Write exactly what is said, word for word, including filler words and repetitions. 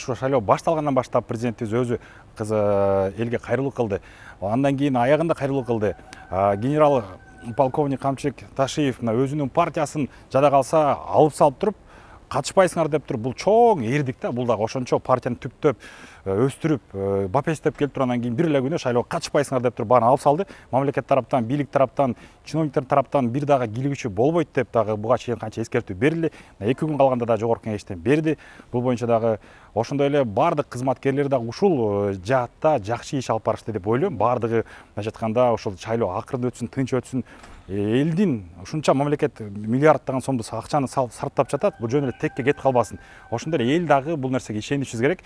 Ушу шайлоо башталгандан баштап президентибиз өзү элге кайрылуу кылды. Андан кийин аягында кайрылуу кылды. Генерал полковник Камчыбек Ташиев өзүнүн партиясын жада калса алып салып туруп, катышпайсыңар деп туруп, бул чоң эрдик да, бул дагы ошончо партияны түптөп, өстүрүп, бапестеп келип туруп, андан кийин бир эле күнү шайлоого катышпайсыңар деп туруп баарын алып салды. Мамлекет тараптан, бийлик тараптан, чиновниктер тараптан бир дагы кийлигүүчү болбойт деп дагы буга чейин канча эскертүү берилди. эки күн калганда да жогорку кеңештен берди. Бул боюнча дагы ошондой эле бардык кызматкерлер дагы ушул жаатта жакшы иш алып барышты деп ойлойм. Бардыгы мындайча айтканда ошол шайлоо акырын өтсүн, тынч өтсүн. Элдин ушунча мамлекет миллиарддаган сомду акчаны сарптап жатат, бул жөн эле текке кетип калбасын. Ошондой эле эл дагы бул нерсеге ишенишибиз керек.